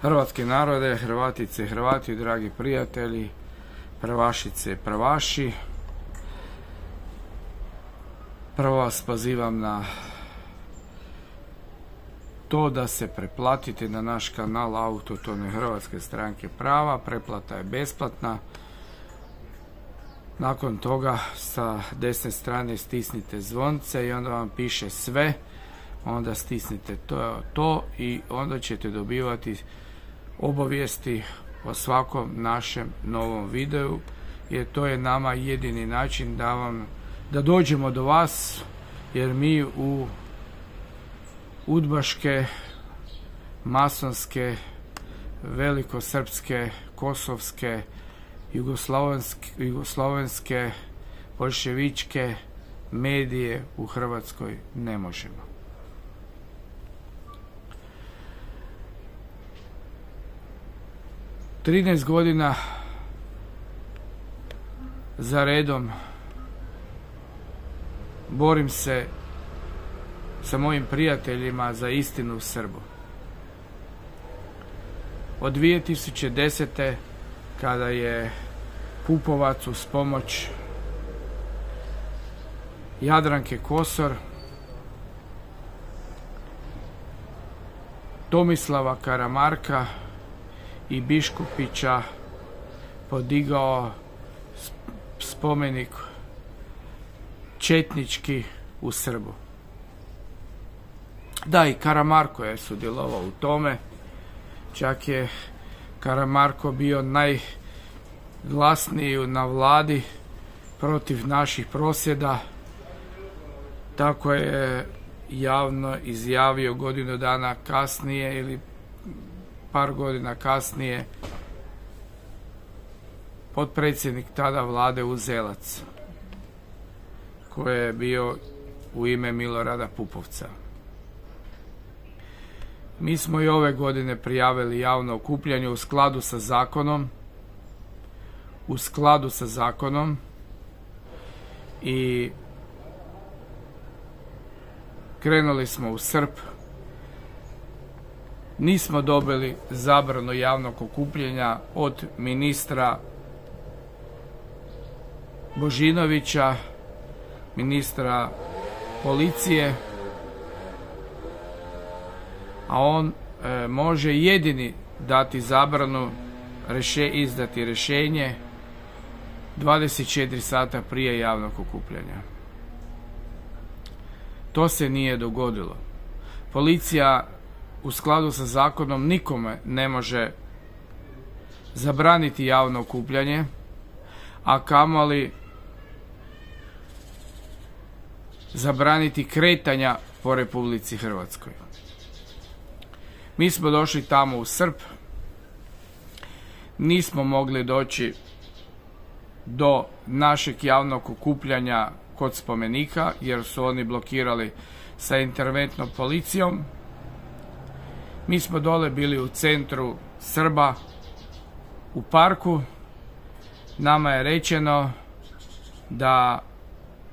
Hrvatski narode, Hrvatice i Hrvati, dragi prijatelji, prvašice i prvaši. Prvo vas pozivam na to da se pretplatite na naš kanal Autohtone Hrvatske stranke prava. Pretplata je besplatna. Nakon toga sa desne strane stisnite zvonce i onda vam piše sve. Onda stisnite to i onda ćete dobivati obavijesti o svakom našem novom videu, jer to je nama jedini način da dođemo do vas, jer mi u udbaške, masonske, velikosrpske, kosovske, jugoslovenske, boljševičke medije u Hrvatskoj ne možemo. – 13 godina za redom borim se sa mojim prijateljima za istinu u Srbu. Od 2010. kada je Pupovac uz pomoć Jadranke Kosor, Tomislava Karamarka i Biškupića podigao spomenik četnički u Srbu. Da, i Karamarko je sudjelovao u tome. Čak je Karamarko bio najglasniji na vladi protiv naših prosvjeda. Tako je javno izjavio godinu dana kasnije ili par godina kasnije potpredsjednik tada vlade Uzelac, koji je bio u ime Milorada Pupovca. Mi smo i ove godine prijavili javno okupljanje u skladu sa zakonom i krenuli smo u Srp. Nismo dobili zabranu javnog okupljanja od ministra Božinovića, ministra policije, a on može jedini dati zabranu, izdati rješenje 24 sata prije javnog okupljanja. To se nije dogodilo. Policija u skladu sa zakonom nikome ne može zabraniti javno okupljanje, a kamoli zabraniti kretanja po Republici Hrvatskoj. Mi smo došli tamo u Srp, nismo mogli doći do našeg javnog okupljanja kod spomenika, jer su oni blokirali sa interventnom policijom. Mi smo dole bili u centru Srba, u parku. Nama je rečeno da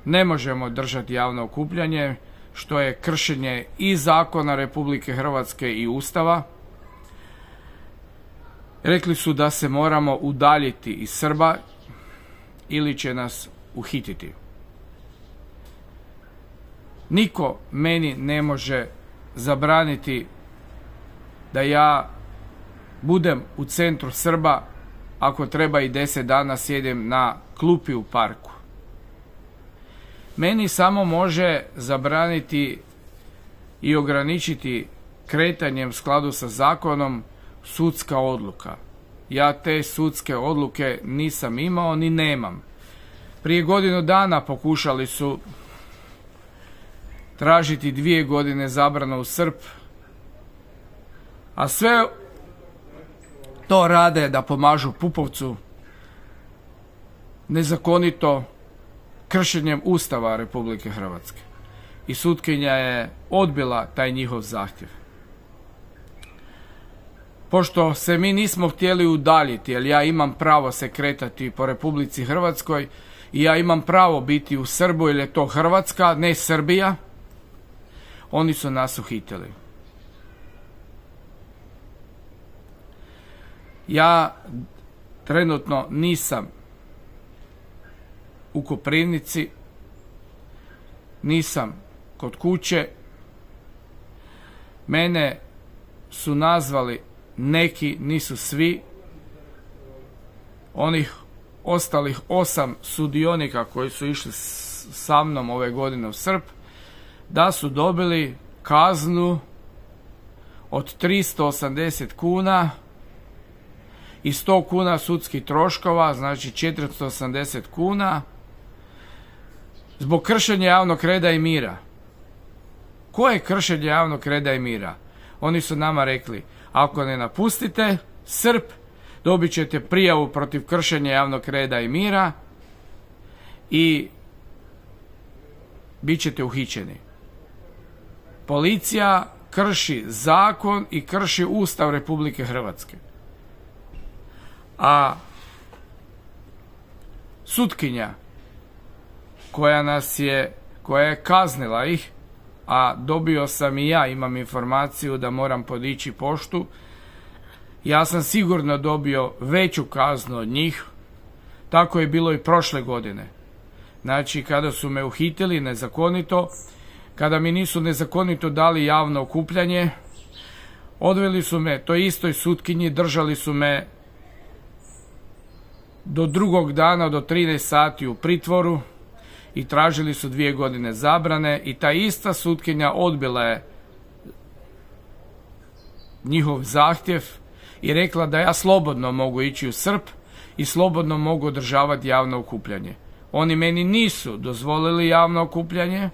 ne možemo držati javno okupljanje, što je kršenje i zakona Republike Hrvatske i Ustava. Rekli su da se moramo udaljiti iz Srba ili će nas uhititi. Niko meni ne može zabraniti da ja budem u centru Srba ako treba i 10 dana sjedem na klupi u parku. Meni samo može zabraniti i ograničiti kretanjem u skladu sa zakonom sudska odluka. Ja te sudske odluke nisam imao ni nemam. Prije godinu dana pokušali su tražiti 2 godine zabranu u Srp, a sve to rade da pomažu Pupovcu nezakonito kršenjem Ustava Republike Hrvatske. I sutkinja je odbila taj njihov zahtjev. Pošto se mi nismo htjeli udaljiti, jer ja imam pravo se kretati po Republici Hrvatskoj i ja imam pravo biti u Srbu, jer je to Hrvatska, ne Srbija, oni su nas uhitili. Ja trenutno nisam u Koprivnici, nisam kod kuće. Mene su nazvali neki, nisu svi, onih ostalih 8 sudionika koji su išli sa mnom ove godine u Srb, da su dobili kaznu od 380 kuna i 100 kuna sudskih troškova, znači 480 kuna, zbog kršenja javnog reda i mira. Koje kršenje javnog reda i mira? Oni su nama rekli, ako ne napustite Srb, dobit ćete prijavu protiv kršenja javnog reda i mira i bit ćete uhićeni. Policija krši zakon i krši Ustav Republike Hrvatske. A sutkinja koja je kaznila ih, a dobio sam i ja, imam informaciju da moram podići poštu, ja sam sigurno dobio veću kaznu od njih. Tako je bilo i prošle godine. Znači, kada su me uhitili nezakonito, kada mi nisu nezakonito dali javno okupljanje, odveli su me toj istoj sutkinji, držali su me do drugog dana, do 13 sati u pritvoru i tražili su 2 godine zabrane i ta ista sutkinja odbila je njihov zahtjev i rekla da ja slobodno mogu ići u Srb i slobodno mogu održavati javno okupljanje. Oni meni nisu dozvolili javno okupljanje,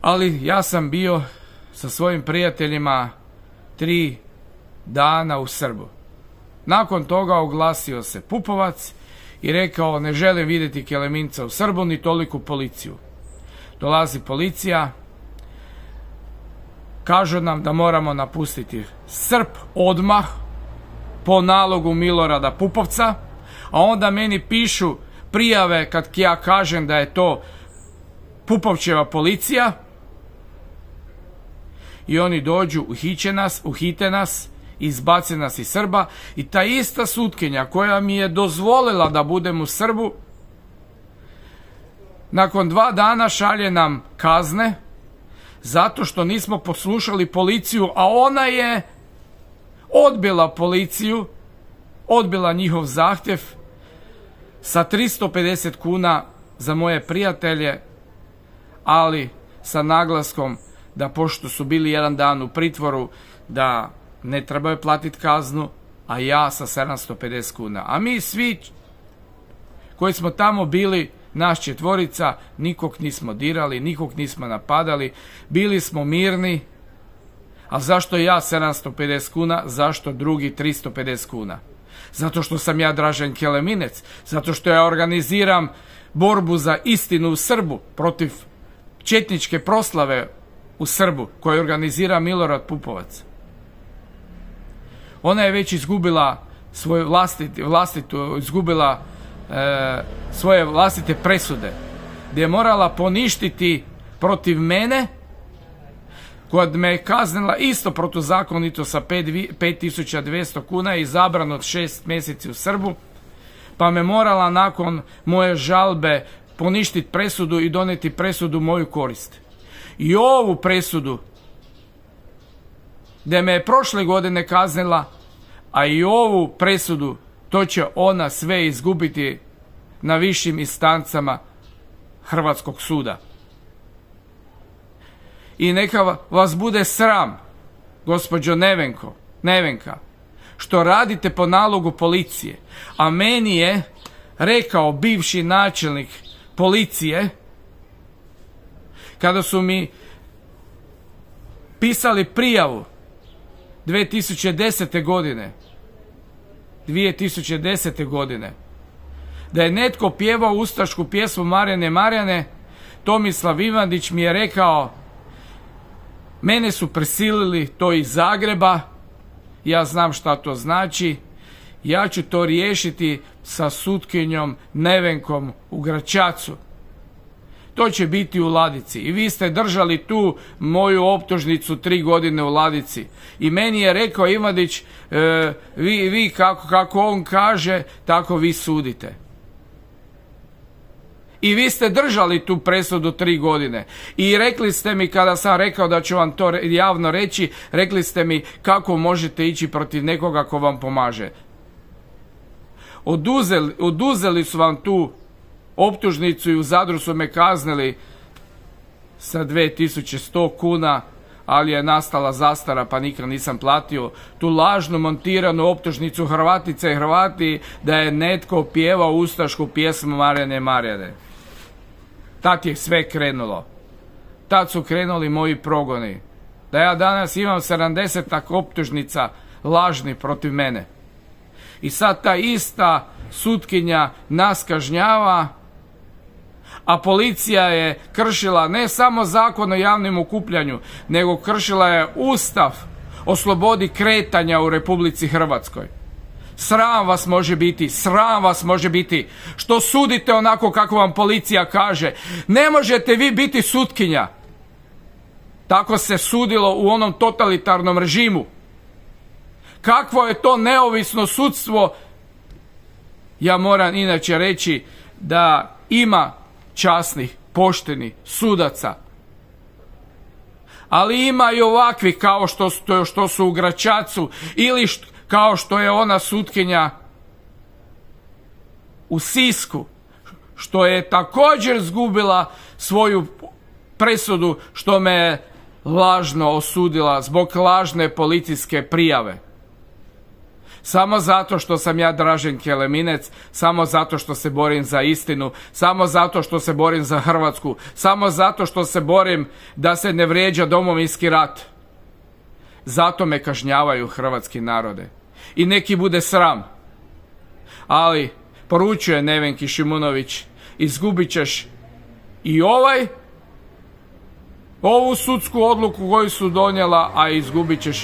ali ja sam bio sa svojim prijateljima 3 dana u Srbu. Nakon toga oglasio se Pupovac i rekao, ne želim vidjeti Keleminca u Srbu ni toliku policiju. Dolazi policija, kažu nam da moramo napustiti Srb odmah po nalogu Milorada Pupovca, a onda meni pišu prijave kad ja kažem da je to Pupovčeva policija i oni dođu, uhite nas, izbace nas iz Srba i ta ista sutkinja koja mi je dozvolila da budem u Srbu, nakon 2 dana šalje nam kazne zato što nismo poslušali policiju, a ona je odbila policiju, odbila njihov zahtjev sa 350 kuna za moje prijatelje, ali sa naglaskom da pošto su bili 1 dan u pritvoru, da ne trebaju platiti kaznu, a ja sa 750 kuna. A mi svi koji smo tamo bili, naš 4, nikog nismo dirali, nikog nismo napadali, bili smo mirni. A zašto ja 750 kuna, zašto drugi 350 kuna? Zato što sam ja Dražen Keleminec, zato što ja organiziram borbu za istinu u Srbu protiv četničke proslave u Srbu koju organizira Milorad Pupovac. Ona je već izgubila svoje vlastite presude, gdje je morala poništiti protiv mene, koja me je kaznila isto protuzakonito sa 5200 kuna i zabrano od 6 mjeseci u Srbu, pa me morala nakon moje žalbe poništiti presudu i donijeti presudu u moju korist. I ovu presudu, gdje me je prošle godine kaznila, a i ovu presudu, to će ona sve izgubiti na višim instancama Hrvatskog suda. I neka vas bude sram, gospođo Nevenka, što radite po nalogu policije. A meni je rekao bivši načelnik policije, kada su mi pisali prijavu 2010. godine, da je netko pjevao ustašku pjesmu Marjane, Tomislav Ivandić mi je rekao, mene su prisilili to iz Zagreba, ja znam šta to znači, ja ću to riješiti sa sutkinjom Nevenkom u Gračacu. to će biti u ladici. I vi ste držali tu moju optužnicu 3 godine u ladici. I meni je rekao Ivanić, vi kako on kaže, tako vi sudite. I vi ste držali tu presudu 3 godine. I rekli ste mi, kada sam rekao da ću vam to javno reći, rekli ste mi kako možete ići protiv nekoga ko vam pomaže. Oduzeli su vam tu optužnicu i u Zadru su me kaznili sa 2100 kuna, ali je nastala zastara pa nikad nisam platio tu lažnu montiranu optužnicu Hrvatice i Hrvati da je netko pjevao ustašku pjesmu Marjane Marjane. Tad je sve krenulo. Tad su krenuli moji progoni. Da ja danas imam 70 optužnica lažnih protiv mene. I sad ta ista sutkinja nas kažnjava, a policija je kršila ne samo zakon o javnom okupljanju, nego kršila je Ustav o slobodi kretanja u Republici Hrvatskoj. Sram vas može biti, sram vas može biti što sudite onako kako vam policija kaže. Ne možete vi biti sutkinja. Tako se sudilo u onom totalitarnom režimu. Kakvo je to neovisno sudstvo? Ja moram inače reći da ima časnih, poštenih sudaca. Ali ima i ovakvih kao što su u Gračacu ili kao što je ona sutkinja u Sisku, što je također izgubila svoju presudu, što me je lažno osudila zbog lažne policijske prijave. Samo zato što sam ja Dražen Keleminec, samo zato što se borim za istinu, samo zato što se borim za Hrvatsku, samo zato što se borim da se ne vrijeđa Domovinski rat. Zato me kažnjavaju hrvatski narode. I neki bude sram. Ali, poručuje Nevenki Šimunović, izgubit ćeš i ovu sudsku odluku koju su donijela, a izgubit ćeš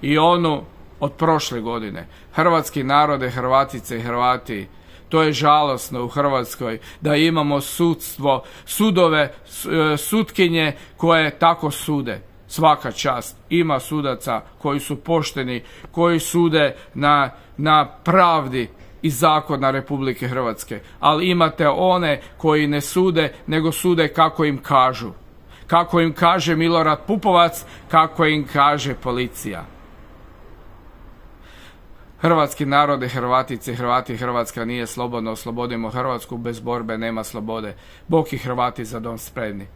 i onu od prošle godine. Hrvatski narode, Hrvatice i Hrvati, to je žalosno u Hrvatskoj da imamo sudstvo, sudove, sutkinje koje tako sude. Svaka čast. Ima sudaca koji su pošteni, koji sude na pravdi i zakona Republike Hrvatske. Ali imate one koji ne sude, nego sude kako im kažu. Kako im kaže Milorad Pupovac, kako im kaže policija. Hrvatski narode, Hrvatice, Hrvati, Hrvatska nije slobodna. Oslobodimo Hrvatsku, bez borbe nema slobode. Bog i Hrvati za dom spremni.